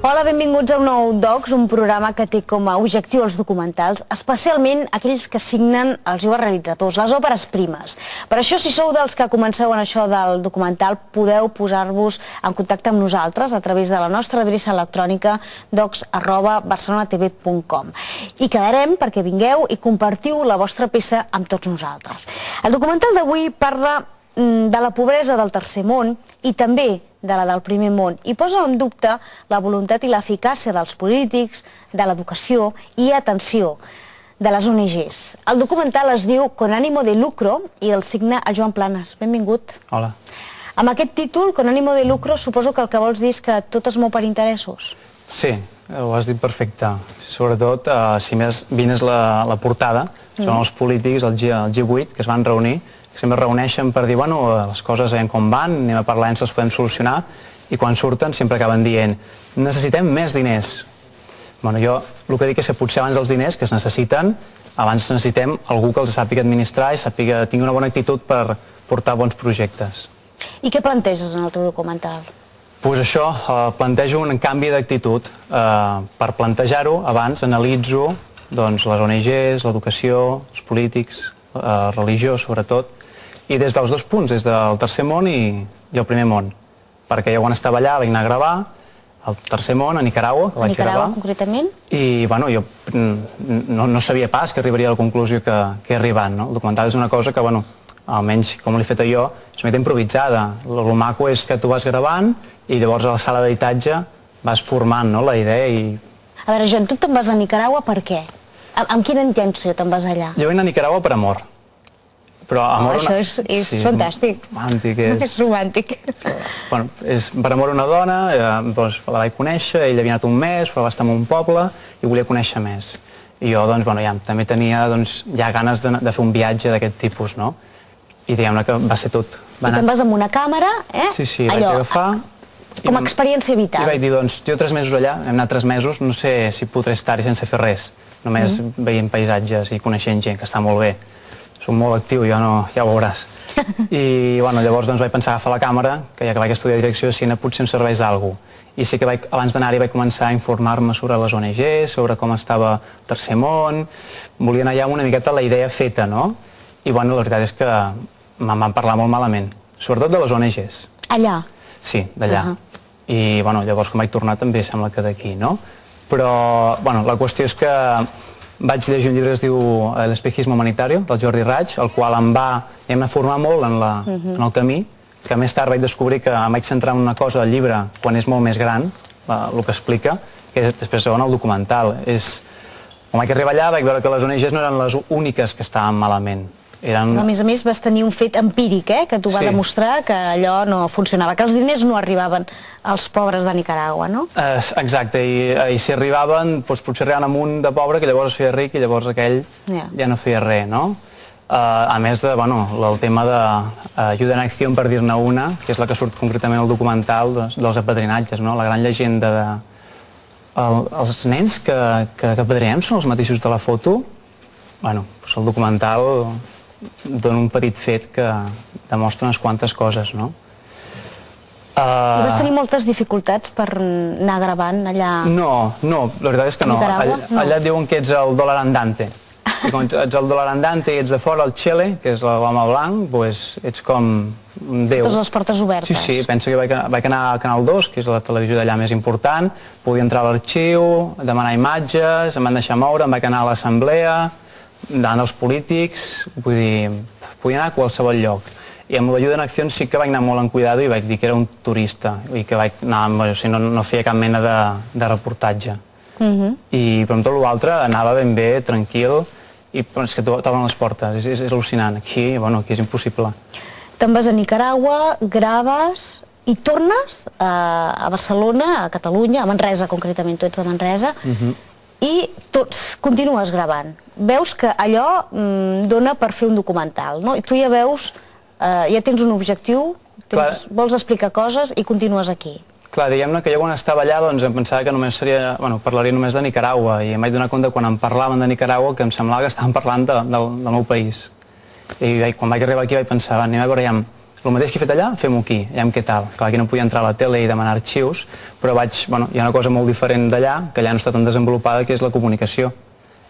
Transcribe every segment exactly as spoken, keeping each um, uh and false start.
Hola, benvinguts a un nou Docs, un programa que té com a objectiu els documentals, especialment aquells que signen els joves realitzadors, les òperes primes. Per això, si sou dels que comenceu en això del documental, podeu posar-vos en contacte amb nosaltres a través de la nostra adreça electrònica docs arroba barcelonatv punt com. I quedarem perquè vingueu i compartiu la vostra peça amb tots nosaltres. El documental d'avui parla de la pobresa del tercer món i també de la del primer món, i posa en dubte la voluntat i l'eficàcia dels polítics, de l'educació i, atenció, de les O N Ges. El documental es diu Con ánimo de lucro i el signa el Joan Planes. Benvingut. Hola. Amb aquest títol, Con ánimo de lucro, suposo que el que vols dir és que tot es mou per interessos. Sí, ho has dit perfecte. Sobretot, si més vines la portada, són els polítics, el G vuit, que es van reunir, que sempre es reuneixen per dir, bueno, les coses veiem com van, anem a parlar, ens les podem solucionar, i quan surten sempre acaben dient, necessitem més diners. Bueno, jo el que dic és que potser abans dels diners que es necessiten, abans necessitem algú que els sàpiga administrar i sàpiga, tingui una bona actitud per portar bons projectes. I què planteges en el teu documental? Doncs això, plantejo un canvi d'actitud. Per plantejar-ho, abans analitzo les O N Ges, l'educació, els polítics, religió, sobretot, i des dels dos punts, des del tercer món i el primer món. Perquè jo quan estava allà vaig anar a gravar al tercer món, a Nicaragua, que vaig gravar. A Nicaragua, concretament? I, bueno, jo no sabia pas que arribaria a la conclusió que he arribat, no? El documental és una cosa que, bueno, almenys com l'he fet jo, és una mica improvisada. El maco és que tu vas gravant i llavors a la sala d'editatge vas formant la idea i... A veure, Joan, tu te'n vas a Nicaragua per què? Amb quina intenció te'n vas allà? Jo vaig anar a Nicaragua per amor. Però amor... Això és fantàstic. Romàntic és... És romàntic. Bueno, per amor a una dona, la vaig conèixer, ell havia anat un mes, però va estar en un poble i volia conèixer més. I jo, doncs, bueno, ja també tenia ja ganes de fer un viatge d'aquest tipus, no? I diguem-ne que va ser tot. I te'n vas amb una càmera, eh? Sí, sí, vaig agafar... Com a experiència vital. I vaig dir, doncs, jo tres mesos allà, hem anat tres mesos, no sé si podré estar-hi sense fer res. Només veient paisatges i coneixent gent, que està molt bé. Soc molt actiu, jo no, ja ho veuràs. I, bueno, llavors doncs vaig pensar agafar la càmera, que ja que vaig estudiar direcció de cine potser em serveix d'alguna cosa. I sí que abans d'anar-hi vaig començar a informar-me sobre les O N Ges, sobre com estava el tercer món, volia anar allà amb una miqueta la idea feta, no? I, bueno, la veritat és que me'n van parlar molt malament, sobretot de les O N Ges. Allà? Sí, d'allà. I, bueno, llavors quan vaig tornar també sembla que d'aquí, no? Però, bueno, la qüestió és que vaig llegir un llibre que es diu L'espejismo humanitario, del Jordi Raig, el qual em va formar molt en el camí, que més tard vaig descobrir que em vaig centrar en una cosa del llibre quan és molt més gran, el que explica, que és després segon el documental. Quan vaig arribar allà vaig veure que les O N Ges no eren les úniques que estaven malament. Però, a més a més, vas tenir un fet empíric, eh, que t'ho va demostrar que allò no funcionava, que els diners no arribaven als pobres de Nicaragua, no? Exacte, i si arribaven, potser arribaven amb un de pobre que llavors es feia ric i llavors aquell ja no feia res, no? A més del tema d'Ayuda en Acció, per dir-ne una, que és la que surt concretament al documental dels apadrinatges, no? La gran llegenda de... Els nens que apadrinem són els mateixos de la foto? Bueno, el documental dona un petit fet que demostra unes quantes coses, no? I vas tenir moltes dificultats per anar gravant allà? No, no, la veritat és que no. Allà et diuen que ets el dòlar andante. I quan ets el dòlar andante i ets de fora el Chele, que és l'home blanc, doncs ets com un déu. Totes les portes obertes. Sí, sí, penso que vaig anar a Canal dos, que és la televisió d'allà més important, podia entrar a l'arxiu, demanar imatges, em van deixar moure, em vaig anar a l'assemblea, anant als polítics, vull dir, podia anar a qualsevol lloc. I amb l'Ayuda en Acció sí que vaig anar molt en cuidado i vaig dir que era un turista i que vaig anar, o sigui, no feia cap mena de reportatge. I però amb tot l'altre anava ben bé, tranquil, i és que t'obren les portes, és al·lucinant. Aquí, bueno, aquí és impossible. Te'n vas a Nicaragua, graves i tornes a Barcelona, a Catalunya, a Manresa concretament, tu ets de Manresa, i continues gravant. Veus que allò dona per fer un documental, no? I tu ja veus, ja tens un objectiu, vols explicar coses i continues aquí. Clar, diguem-ne que jo quan estava allà doncs em pensava que només seria, bueno, parlaria només de Nicaragua i em vaig donar compte quan em parlaven de Nicaragua que em semblava que estaven parlant del meu país. I quan vaig arribar aquí vaig pensar, anem a veure ja el mateix que he fet allà, fem-ho aquí, aviam què tal. Clar, aquí no podia entrar a la tele i demanar arxius, però vaig, bueno, hi ha una cosa molt diferent d'allà, que allà no està tan desenvolupada, que és la comunicació.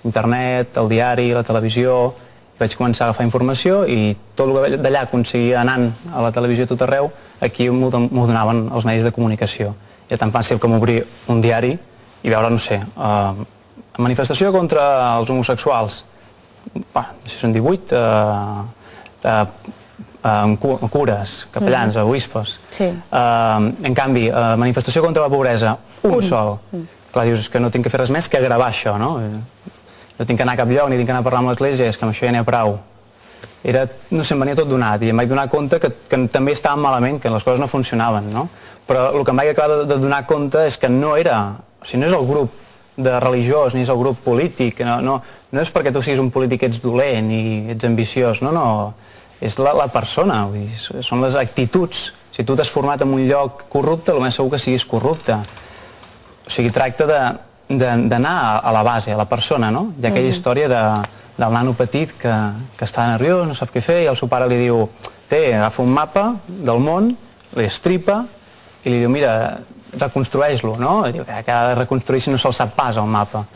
Internet, el diari, la televisió. Vaig començar a agafar informació i tot el que d'allà aconseguia anant a la televisió tot arreu, aquí m'ho donaven els medis de comunicació. Era tan fàcil com obrir un diari i veure, no sé, eh, manifestació contra els homosexuals. Bah, no sé si són divuit, eh, eh, cures, capellans, mm. obispes. Sí. Uh, en canvi, uh, manifestació contra la pobresa, un, un. sol. Mm. Clar, dius que no tinc que fer res més que gravar això, no? No tinc que anar a cap lloc, ni tinc que anar a parlar amb l'església, és que amb això ja n'hi ha prou. Era, no sé, em venia tot donat i em vaig donar compte que, que també estàvem malament, que les coses no funcionaven, no? Però el que em vaig acabar de, de donar compte és que no era, o sigui, no és el grup de religiós, ni és el grup polític, no, no, no és perquè tu siguis un polític ets dolent i ets ambiciós, no, no. És la, la persona, vull dir, són les actituds. Si tu t'has format en un lloc corrupte, el més segur que siguis corrupte. O sigui, tracta d'anar a la base, a la persona, no? Hi ha aquella història de, del nano petit que, que està nerviós, no sap què fer, i el seu pare li diu, té, agafa un mapa del món, l'estripa, i li diu, mira, reconstrueix-lo, no? I diu que ha de reconstruir si no se'l sap pas, el mapa.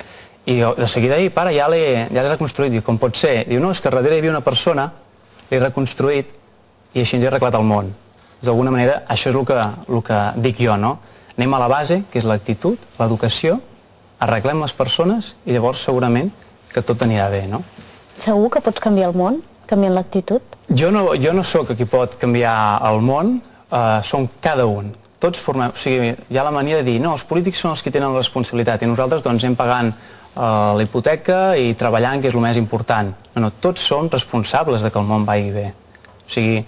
I de seguida, ei, pare, ja l'he ja reconstruït. Diu, com pot ser? Diu, no, és que darrere hi havia una persona, l'he reconstruït i així ens he arreglat el món. D'alguna manera, això és el que, el que dic jo, no? Anem a la base, que és l'actitud, l'educació, arreglem les persones i llavors segurament que tot anirà bé, no? Segur que pots canviar el món, canviant l'actitud? Jo no, jo no sóc qui pot canviar el món, eh, som cada un. Tots formem, o sigui, hi ha la mania de dir, no, els polítics són els que tenen la responsabilitat i nosaltres doncs anem pagant Uh, la hipoteca i treballant, que és el més important. No, no, tots som responsables de que el món vagi bé. O sigui,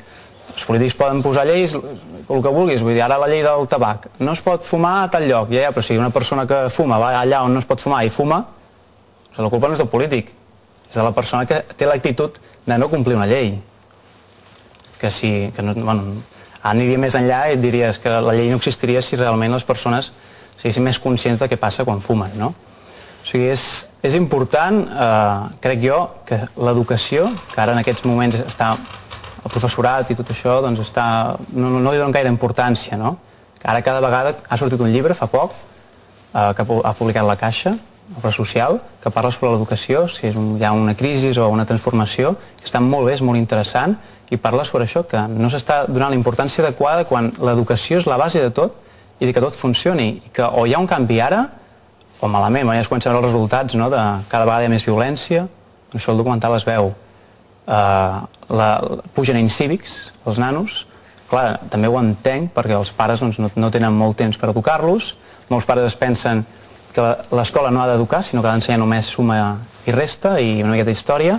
els polítics poden posar lleis, el que vulguis, vull dir, ara la llei del tabac. No es pot fumar a tal lloc, ja, ja, però si una persona que fuma va allà on no es pot fumar i fuma, la culpa no és del polític, és de la persona que té l'actitud de no complir una llei. Que si, que no, bueno, aniria més enllà i et diries que la llei no existiria si realment les persones siguessin més conscients de què passa quan fumen, no? O sigui, és, és important, eh, crec jo, que l'educació, que ara en aquests moments està el professorat i tot això, doncs està, no, no li donen gaire importància, no? Que ara cada vegada ha sortit un llibre, fa poc, eh, que ha publicat la Caixa, Obra Social, que parla sobre l'educació, si és un, hi ha una crisi o una transformació, que està molt bé, és molt interessant, i parla sobre això, que no s'està donant la importància adequada quan l'educació és la base de tot i que tot funcioni, i que o hi ha un canvi ara, o malament, ja es comencen a veure els resultats, no? De cada vegada hi ha més violència, això el documental es veu. Uh, la, pugen incívics, els nanos, clar, també ho entenc, perquè els pares doncs, no, no tenen molt temps per educar-los, molts pares es pensen que l'escola no ha d'educar, sinó que ha d'ensenyar només suma i resta i una miqueta d'història,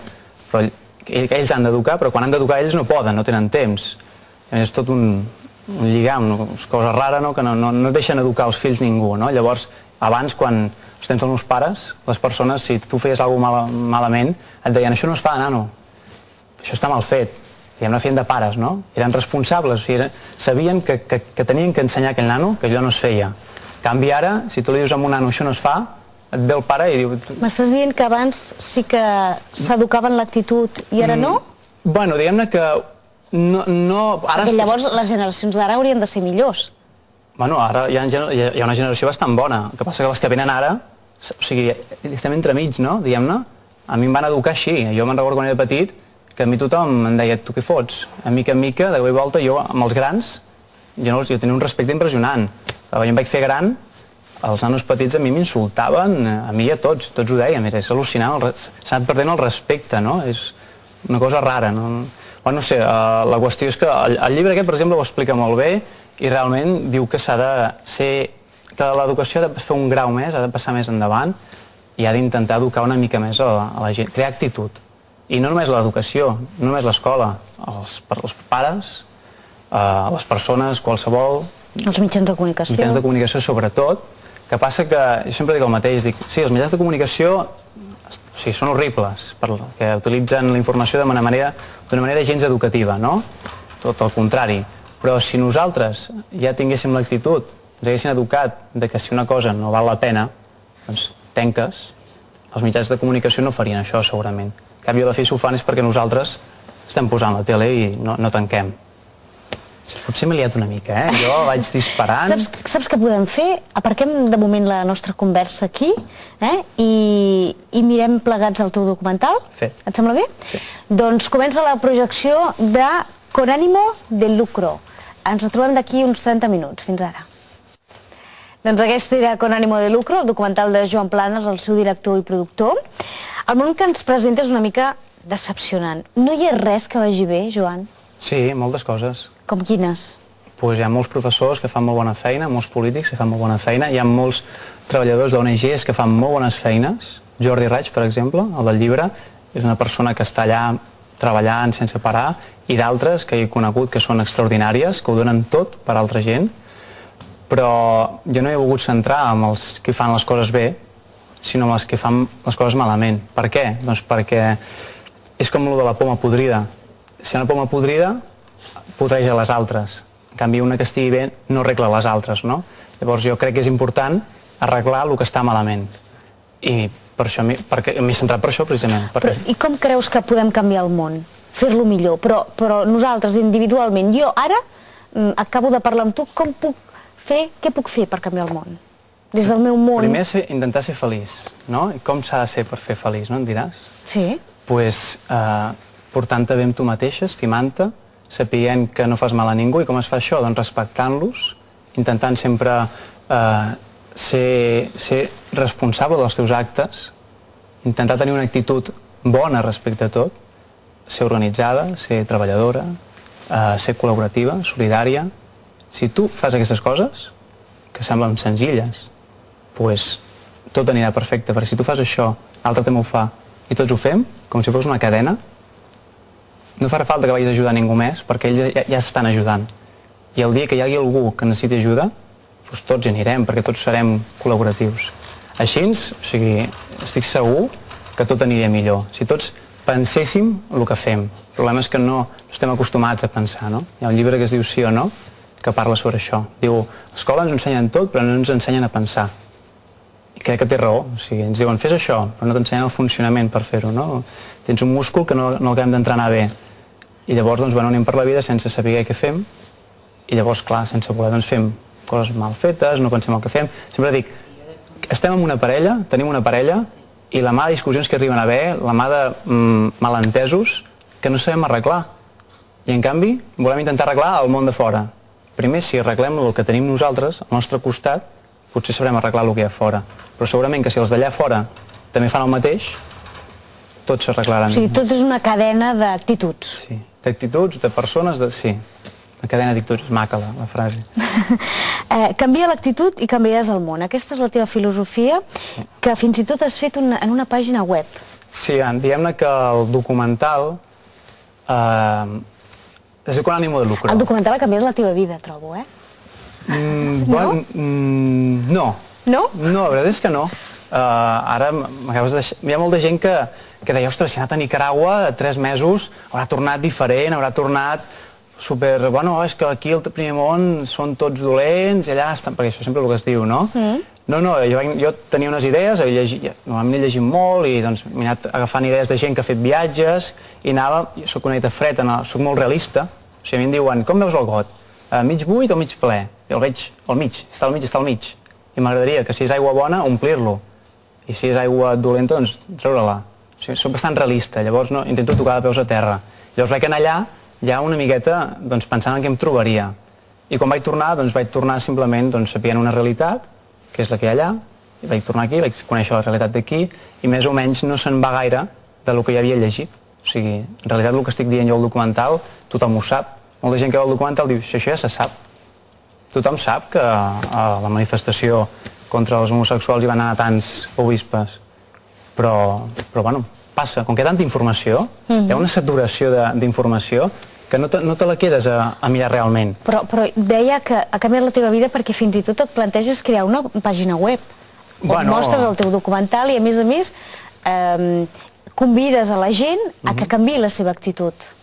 però ells han d'educar, però quan han d'educar ells no poden, no tenen temps. És tot un, un lligam, no? És cosa rara, no? Que no, no, no deixen educar els fills ningú, no? Llavors, abans, quan els tens els meus pares, les persones, si tu feies alguna cosa mal, malament, et deien, això no es fa, nano, això està mal fet. Diguem, no feien de pares, no? Eren responsables, o sigui, eren, sabien que, que, que tenien que ensenyar aquell nano que allò no es feia. En canvi, ara, si tu li dius a un nano, això no es fa, et ve el pare i diu... M'estàs dient que abans sí que s'educaven l'actitud i ara no? Mm, bueno, diguem-ne que no... no ara Perquè llavors les generacions d'ara haurien de ser millors. Bueno, ara hi ha, hi ha una generació bastant bona. El que passa que les que venen ara, o sigui, estem entremig, no? Diguem-ne. A mi em van educar així. Jo me'n recordo quan era petit que a mi tothom em deia, tu què fots? A mica en mica, de cop i volta, jo amb els grans, jo, no, jo tenia un respecte impressionant. Jo em vaig fer gran, els nanos petits a mi m'insultaven, a mi i a tots, tots ho deien, és al·lucinant, s'ha anat perdent el respecte, no? És una cosa rara, no? Bueno, no sé, la qüestió és que el, el llibre aquest, per exemple, ho explica molt bé i realment diu que s'ha de ser, que l'educació ha de fer un grau més, ha de passar més endavant i ha d'intentar educar una mica més a la, a la gent, crear actitud. I no només l'educació, no només l'escola, els, els pares, eh, les persones, qualsevol... Els mitjans de comunicació. Mitjans de comunicació sobretot, que passa que, jo sempre dic el mateix, dic, sí, els mitjans de comunicació o sigui, són horribles, perquè utilitzen la informació d'una manera, d'una manera gens educativa, no? Tot el contrari. Però si nosaltres ja tinguéssim l'actitud, ens haguessin educat de que si una cosa no val la pena, doncs tenques, els mitjans de comunicació no farien això segurament. En canvi, a la fi, si ho fan és perquè nosaltres estem posant la tele i no, no tanquem. Potser m'he liat una mica, eh? Jo vaig disparant... Saps, saps què podem fer? Aparquem de moment la nostra conversa aquí, eh? I, i mirem plegats el teu documental. Fet. Et sembla bé? Sí. Doncs comença la projecció de Con ánimo de lucro. Ens retrobem d'aquí uns trenta minuts. Fins ara. Doncs aquest era Con ánimo de lucro, el documental de Joan Planas, el seu director i productor. El món que ens presenta és una mica decepcionant. No hi ha res que vagi bé, Joan? Sí, moltes coses. Com quines? Pues hi ha molts professors que fan molt bona feina, molts polítics que fan molt bona feina, hi ha molts treballadors d'O N Ges que fan molt bones feines. Jordi Raig, per exemple, el del llibre, és una persona que està allà treballant sense parar, i d'altres que he conegut que són extraordinàries, que ho donen tot per a altra gent, però jo no he volgut centrar en els que fan les coses bé, sinó en els que fan les coses malament. Per què? Doncs perquè és com el de la poma podrida. Si hi ha una poma podrida, podreja les altres. En canvi, una que estigui bé no arregla les altres, no? Llavors jo crec que és important arreglar el que està malament. I per això m'he centrat per això, precisament. Però, I com creus que podem canviar el món? Fer-lo millor? Però, però nosaltres, individualment, jo ara acabo de parlar amb tu, com puc fer, què puc fer per canviar el món? Des del meu món... Primer, ser, intentar ser feliç, no? I com s'ha de ser per fer feliç, no? Em diràs? Sí. Doncs pues, eh, portant-te bé amb tu mateixa, estimant-te, sapient que no fas mal a ningú. I com es fa això? Doncs respectant-los, intentant sempre eh, ser, ser responsable dels teus actes, intentar tenir una actitud bona respecte a tot, ser organitzada, ser treballadora, eh, ser col·laborativa, solidària. Si tu fas aquestes coses, que semblen senzilles, doncs tot anirà perfecte, perquè si tu fas això, l'altre també ho fa, i tots ho fem, com si fos una cadena, no farà falta que vagis a ajudar ningú més, perquè ells ja, ja s'estan ajudant. I el dia que hi hagi algú que necessiti ajuda, doncs tots hi anirem, perquè tots serem col·laboratius. Així, o sigui, estic segur que tot aniria millor. Si tots penséssim el que fem. El problema és que no estem acostumats a pensar, no? Hi ha un llibre que es diu Sí o no, que parla sobre això. Diu, a l'escola ens ensenyen tot, però no ens ensenyen a pensar. I crec que té raó. O sigui, ens diuen, fes això, però no t'ensenyen el funcionament per fer-ho, no? Tens un múscul que no, no acabem d'entrenar bé. I llavors, doncs, bueno, anem per la vida sense saber què fem, i llavors, clar, sense voler, doncs, fem coses mal fetes, no pensem el que fem. Sempre dic, estem en una parella, tenim una parella, i la mà de discussions que arriben a haver, la mà de mm, malentesos, que no sabem arreglar. I, en canvi, volem intentar arreglar el món de fora. Primer, si arreglem el que tenim nosaltres, al nostre costat, potser sabrem arreglar el que hi ha fora. Però segurament que si els d'allà fora també fan el mateix, tots s'arreglaran. O sigui, tot és una cadena d'actituds. Sí, d'actituds, de persones, de... sí. Una cadena d'actituds, és maca la, la frase. eh, canvia l'actitud i canviaràs el món. Aquesta és la teva filosofia, sí. Que fins i tot has fet una, en una pàgina web. Sí, diguem-ne que el documental eh, és Con ánimo de lucro. El documental ha canviat la teva vida, trobo, eh? Mm, no? Bon, mm, no. No? No, la veritat és que no. Uh, ara m'acabes de deixar... Hi ha molta gent que, que deia, ostres, si ha anat a Nicaragua tres mesos, haurà tornat diferent, haurà tornat super... Bueno, és que aquí al primer món són tots dolents i allà estan... Perquè això sempre és el que es diu, no? Mm. No, no, jo, jo tenia unes idees, llegit, normalment he llegit molt i doncs m'he anat agafant idees de gent que ha fet viatges i anava... Jo soc una mica fred, soc molt realista. O sigui, a mi em diuen, com veus el got? Uh, mig buit o mig ple? Jo el veig al mig, està al mig, està al mig. I m'agradaria que si és aigua bona, omplir-lo. I si és aigua dolenta, doncs treure-la. O sigui, soc bastant realista, llavors no, intento tocar de peus a terra. Llavors vaig anar allà, ja una miqueta, doncs, pensant en què em trobaria. I quan vaig tornar, doncs vaig tornar simplement doncs, sapient una realitat, que és la que hi ha allà, i vaig tornar aquí, vaig conèixer la realitat d'aquí, i més o menys no se'n va gaire del que ja havia llegit. O sigui, en realitat el que estic dient jo al documental, tothom ho sap. Molta gent que veu el documental diu, això ja se sap. Tothom sap que a la manifestació contra els homosexuals hi van anar tants obispes, però, però bueno, passa, com que hi ha tanta informació, mm-hmm. hi ha una saturació d'informació que no te, no te la quedes a, a mirar realment. Però, però deia que ha canviat la teva vida perquè fins i tot et planteges crear una pàgina web on bueno... mostres el teu documental i a més a més eh, convides a la gent a mm-hmm. que canviï la seva actitud.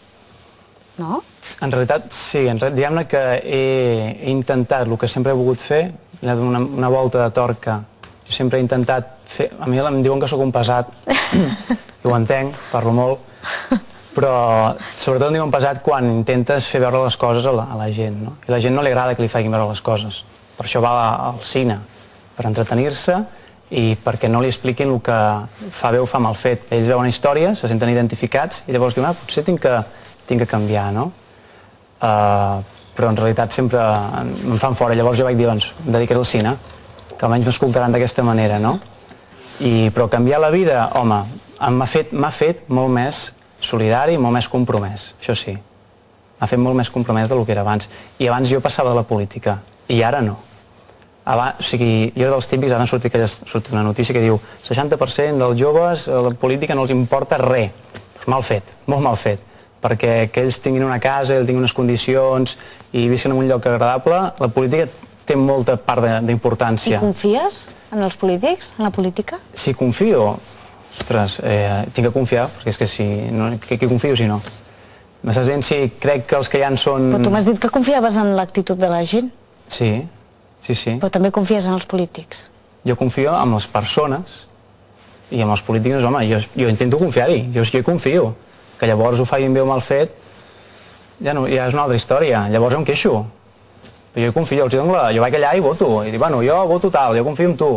No? En realitat, sí, diguem-ne que he, he intentat el que sempre he volgut fer, he donat una, una volta de torca. Jo sempre he intentat fer... A mi em diuen que sóc un pesat, i ho entenc, parlo molt, Però sobretot em diuen pesat quan intentes fer veure les coses a la, a la gent, no? I a la gent no li agrada que li facin veure les coses. Per això va al cine, per entretenir-se i perquè no li expliquin el que fa bé o fa mal fet. Ells veuen històries, se senten identificats i llavors diuen, ah, potser tinc que, tinc que canviar, no? Uh, però en realitat sempre em fan fora. Llavors jo vaig dir, doncs, em dedicaré al cine, que almenys m'escoltaran d'aquesta manera, no? I, però canviar la vida, home, m'ha fet, m'ha fet molt més solidari i molt més compromès, això sí. M'ha fet molt més compromès del que era abans. I abans jo passava de la política, i ara no. Abans, o sigui, jo era dels típics, ara surt, aquella, surt una notícia que diu seixanta per cent dels joves a la política no els importa res. Pues mal fet, molt mal fet. Perquè que ells tinguin una casa, ells tinguin unes condicions i visquin en un lloc agradable, la política té molta part d'importància. I confies en els polítics, en la política? Sí, confio. Ostres, eh, tinc que confiar, perquè és que si... No, que, que confio si no? M'estàs dient si crec que els que hi ha són... Però tu m'has dit que confiaves en l'actitud de la gent. Sí, sí, sí. Però també confies en els polítics. Jo confio en les persones i en els polítics, home, jo, jo intento confiar-hi, jo, jo hi confio. Que llavors ho facin bé o mal fet, ja, no, ja és una altra història. Llavors em queixo. Però jo hi confio, els dono la... jo vaig allà i voto. I dic, bueno, jo voto tal, jo confio en tu.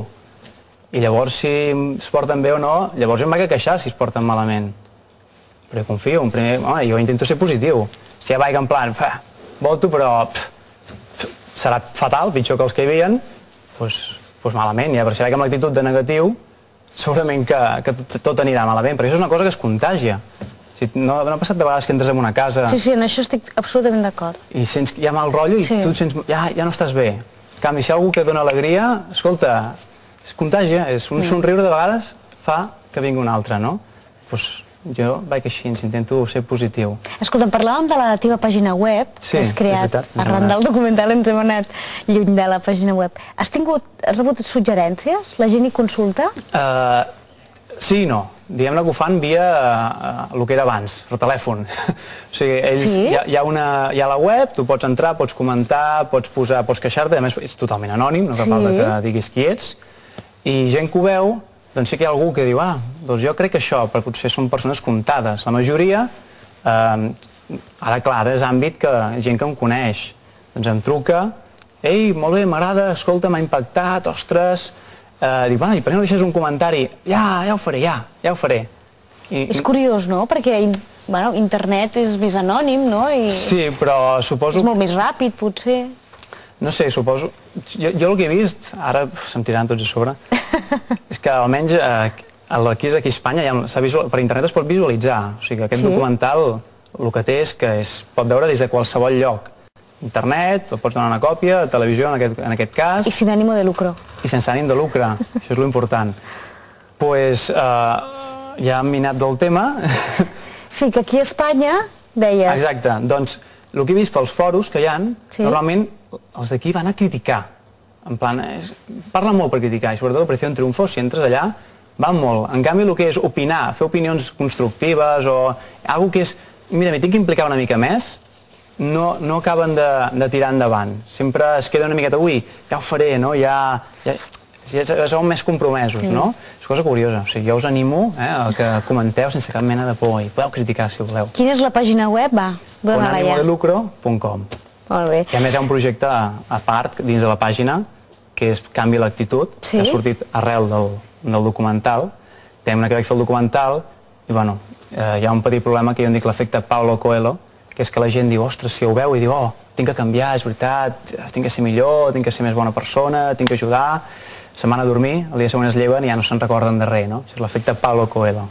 I llavors, si es porten bé o no, llavors jo em vaig a queixar si es porten malament. Però jo confio, en primer, home, jo intento ser positiu. Si ja vaig en plan, fa, voto, però pff, pff, serà fatal, pitjor que els que hi havia, doncs, doncs malament. Ja, però si vaig amb l'actitud de negatiu, segurament que, que tot anirà malament. Però això és una cosa que es contagia. Si no, no ha passat de vegades que entres en una casa... Sí, sí, en això estic absolutament d'acord. I sents que hi ha mal rotllo i sí. Tu sents, ja, ja no estàs bé. En canvi, si hi ha algú que dona alegria, escolta, es contagia, és un somriure de vegades fa que vingui un altre, no? Doncs jo vaig així, intento ser positiu. Escolta, parlàvem de la teva pàgina web, sí, que has creat veritat, arran del documental, ens hem anat lluny de la pàgina web. Has tingut, has rebut suggerències? La gent hi consulta? Uh, sí i no. Diguem-ne que ho fan via uh, el que era abans, per telèfon. O sigui, ells, sí? hi, ha, hi, ha una, hi ha la web, tu pots entrar, pots comentar, pots posar, pots queixar-te, a més és totalment anònim, no cal falta que diguis qui ets. I gent que ho veu, doncs sí que hi ha algú que diu, ah, doncs jo crec que això, però potser són persones comptades. La majoria, eh, ara clar, ara és àmbit que gent que em coneix, doncs em truca, ei, molt bé, m'agrada, escolta, m'ha impactat, ostres, eh, dic, va, i per què no deixes un comentari? Ja, ja ho faré, ja, ja ho faré. I, és curiós, no? Perquè bueno, internet és més anònim, no? I sí, però suposo... És molt més ràpid, potser. No sé, suposo... Jo, jo el que he vist, ara se'm tiraran tots a sobre, és que almenys eh, aquí, aquí a Espanya ja visual, per internet es pot visualitzar. O sigui, aquest sí? documental el que té és que es pot veure des de qualsevol lloc. Internet, el pots donar una còpia, televisió en aquest, en aquest cas... I sin ànimo de lucro. I sense ànim de lucre, això és l'important. Doncs pues, eh, ja hem minat del tema. Sí, que aquí a Espanya deies... Exacte, doncs el que he vist pels foros que hi ha, sí? Normalment els d'aquí van a criticar. En plan, és, parla molt per criticar, i sobretot l'Operació Triunfo, si entres allà, van molt. En canvi, el que és opinar, fer opinions constructives o alguna que és, mira, m'hi tinc que implicar una mica més, no, no acaben de, de tirar endavant. Sempre es queda una miqueta, ui, ja ho faré, no? Ja, ja, ja som més compromesos, no? Mm. És cosa curiosa. O sigui, jo us animo eh, a que comenteu sense cap mena de por i podeu criticar si voleu. Quina és la pàgina web? Va, dona-la ja. con ánimo de lucro punt com. Molt bé. I a més hi ha un projecte a part dins de la pàgina que és Canvi l'actitud, sí? Que ha sortit arrel del, del documental. Tema que vaig fer el documental i bueno, eh, hi ha un petit problema que jo en dic l'efecte Paulo Coelho, que és que la gent diu, ostres, si ho veu i diu, oh, tinc que canviar, és veritat, tinc que ser millor, tinc que ser més bona persona, tinc que ajudar. Se'n van a dormir, el dia següent es lleven i ja no se'n recorden de res, no? Això és l'efecte Paulo Coelho.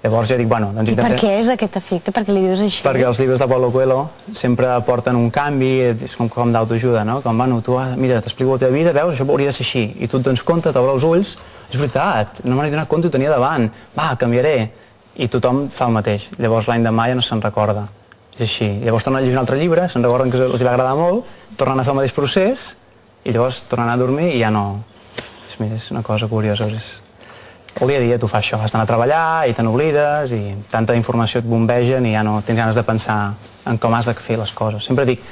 Llavors jo dic, bueno, doncs intentem... I per què és aquest efecte? Per què li dius així? Perquè els llibres de Paulo Coelho sempre porten un canvi, és com, com d'autoajuda, no? Com, bueno, tu, mira, t'explico la teva vida, veus, això hauria de ser així. I tu et dones compte, t'obre els ulls, és veritat, no me n'he donat compte, ho tenia davant, va, canviaré. I tothom fa el mateix. Llavors l'any demà ja no se'n recorda. És així. Llavors tornen a llegir un altre llibre, se'n recorden que els va agradar molt, tornen a fer el mateix procés, i llavors tornen a dormir i ja no... És, mira, és una cosa curiosa. És... El dia a dia tu fas això, vas anar a treballar i te n'oblides i tanta informació et bombegen i ja no tens ganes de pensar en com has de fer les coses. Sempre dic,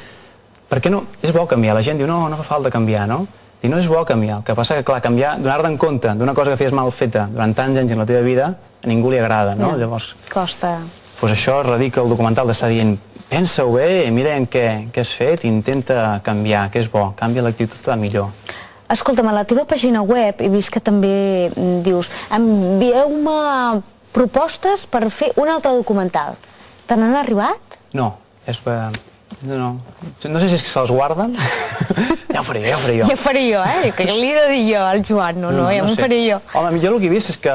per què no? És bo canviar. La gent diu, no, no fa falta canviar, no? Dic, no és bo canviar. El que passa que, clar, canviar, donar-te en compte d'una cosa que feies mal feta durant tants anys en la teva vida, a ningú li agrada, no? Ja. Llavors... Costa. doncs això radica el documental d'estar dient pensa-ho bé, mira en què, què has fet, intenta canviar, que és bo, canvia l'actitud a millor. Escolta'm, a la teva pàgina web he vist que també dius envieu-me propostes per fer un altre documental. Te n'han arribat? No, és que... No, no. No sé si és que se'ls guarden. Ja ho faré, ja ho faré jo. Ja ho faré jo, eh? Que li he de dir jo al Joan, no, no, ja m'ho faré jo. Home, jo el que he vist és que,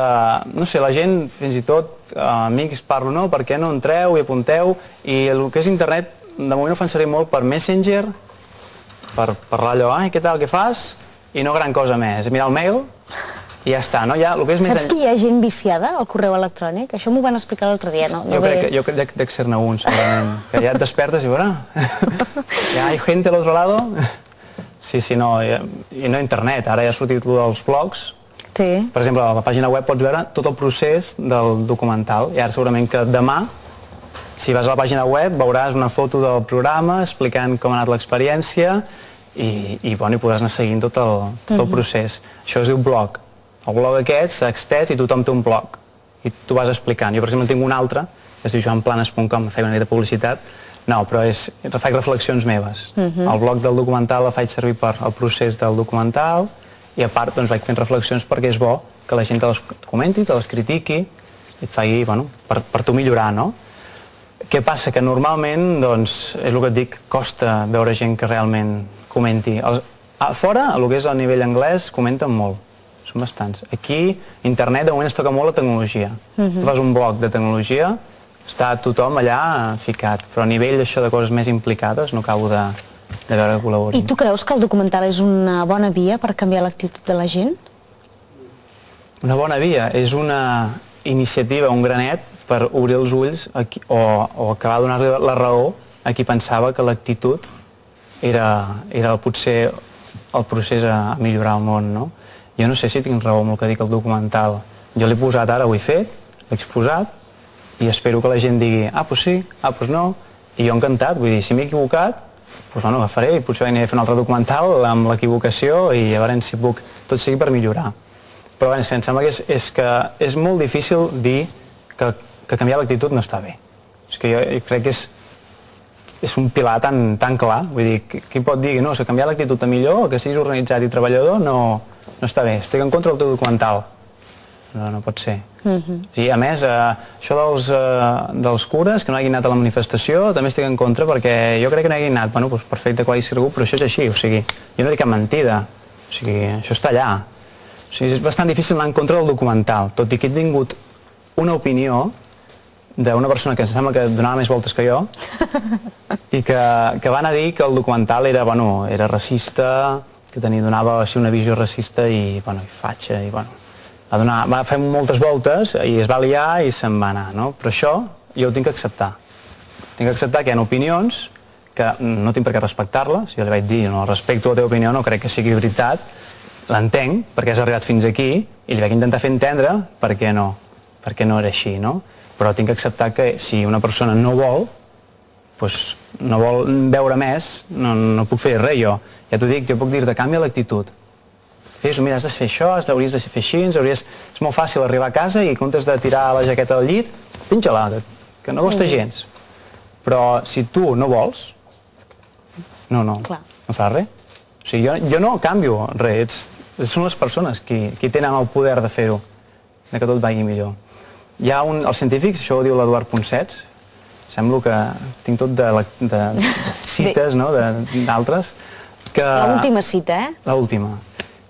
no sé, la gent, fins i tot, amics, parlo, no, per què no entreu i apunteu, i el que és internet, de moment ho fan servir molt per Messenger, per parlar allò, ai, què tal, què fas? I no gran cosa més, mirar el mail i ja està, no? Ja, el que és més... Saps que hi ha gent viciada al correu electrònic? Això m'ho van explicar l'altre dia, no? Jo crec que jo crec que dec ser-ne un, segurament, que ja et despertes i veurà, ja hi ha gent a l'altre lado. Sí, sí, no, i no internet, ara ja ha sortit el dels blogs. Sí. Per exemple, a la pàgina web pots veure tot el procés del documental, i ara segurament que demà, si vas a la pàgina web, veuràs una foto del programa explicant com ha anat l'experiència, i, i, bueno, i podràs anar seguint tot el, tot el procés. Això es diu blog. El blog aquest s'ha extès i tothom té un blog. I tu vas explicant. Jo, per exemple, tinc un altre, que es diu joan planes punt com, feia una mica de publicitat. No, però és, faig reflexions meves. El blog del documental el faig servir per al procés del documental i a part doncs, vaig fent reflexions perquè és bo que la gent te les comenti, te les critiqui i et faci, bueno, per, per tu millorar, no? Què passa? Que normalment, doncs, és el que et dic, costa veure gent que realment comenti. Els, a fora, el que és a nivell anglès, comenten molt. Són bastants. Aquí, internet, de moment es toca molt la tecnologia. Tu fas un blog de tecnologia, està tothom allà ficat, però a nivell d'això de coses més implicades no acabo de, de veure que col·laborin. I tu creus que el documental és una bona via per canviar l'actitud de la gent? Una bona via. És una iniciativa, un granet, per obrir els ulls a qui, o, o acabar de donar la raó a qui pensava que l'actitud era, era potser el procés a millorar el món, no? Jo no sé si tinc raó amb el que dic el documental. Jo l'he posat ara, ho he fet, l'he exposat, i espero que la gent digui, ah, doncs sí, ah, doncs no, i jo encantat, vull dir, si m'he equivocat, doncs bueno, agafaré i potser aniré a fer un altre documental amb l'equivocació i a veure si puc, tot sigui per millorar. Però bé, és que em sembla que és, és, que és molt difícil dir que, que canviar l'actitud no està bé. És que jo, jo crec que és, és un pilar tan, tan clar, vull dir, qui pot dir no, que canviar l'actitud a millor o que siguis organitzat i treballador no, no està bé, estic en contra del teu documental. No, no pot ser. Uh-huh. Sí, a més, eh, això dels, eh, dels cures, que no hagin anat a la manifestació, també estic en contra perquè jo crec que no hagin anat, bueno, doncs perfecte, quasi segur, però això és així, o sigui, jo no dic cap mentida, o sigui, això està allà. O sigui, és bastant difícil anar en contra del documental, tot i que he tingut una opinió d'una persona que em sembla que donava més voltes que jo i que, que van a dir que el documental era, bueno, era racista, que tenia, donava així, una visió racista i, bueno, i fatxa, i bueno, va, donar, va fer moltes voltes i es va liar i se'n va anar, no? Però això jo ho tinc que acceptar. Tinc que acceptar que hi ha opinions que no tinc per què respectar-les. Jo li vaig dir, no, respecto la teva opinió, no crec que sigui veritat, l'entenc perquè has arribat fins aquí i li vaig intentar fer entendre per què no, per què no era així, no? Però tinc que acceptar que si una persona no vol, doncs no vol veure més, no, no puc fer res jo. Ja t'ho dic, jo puc dir-te, canvia l'actitud. Fes-ho, mira, has de fer això, hauries de fer així, hauries... és molt fàcil arribar a casa i en comptes de tirar la jaqueta del llit, pinxa-la, que no costa gens. Però si tu no vols, no, no, Clar. no fas res. O sigui, jo, jo no canvio res, ets, són les persones qui, qui tenen el poder de fer-ho, de que tot vagi millor. Hi ha un, els científics, això ho diu l'Eduard Ponsets, sembla que tinc tot de, de, de cites, no?, d'altres, que... L'última cita, eh? L'última.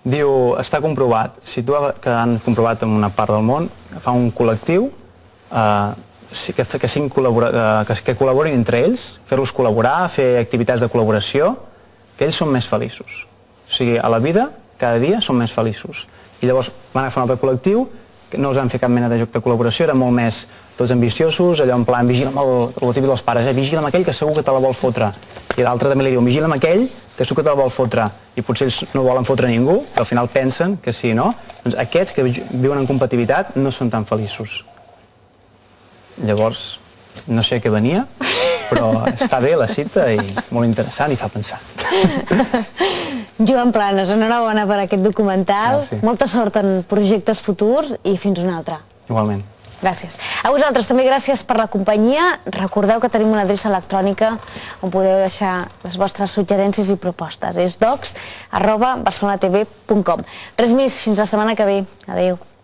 Diu, està comprovat, si tu que han comprovat en una part del món, fa un col·lectiu eh, que, que, eh, que, que col·laborin entre ells, fer-los col·laborar, fer activitats de col·laboració, que ells són més feliços. O sigui, a la vida, cada dia són més feliços. I llavors van agafar un altre col·lectiu, que no els van fer cap mena de joc de col·laboració, eren molt més tots ambiciosos, allò en plan, vigila amb el, el típic dels pares, eh? Vigila amb aquell que segur que te la vol fotre. I l'altre també li diu, vigila amb aquell que segur que te la vol fotre. I potser ells no volen fotre ningú, però al final pensen que sí, no? Doncs aquests que viuen en competitivitat no són tan feliços. Llavors, no sé què venia, però està bé la cita i molt interessant i fa pensar. Joan Planes, enhorabona per aquest documental. Gràcies. Molta sort en projectes futurs i fins una altra. Igualment. Gràcies. A vosaltres també gràcies per la companyia. Recordeu que tenim una adreça electrònica on podeu deixar les vostres suggerències i propostes. És docs arroba barcelonatv punt com. Res més, fins la setmana que ve. Adéu.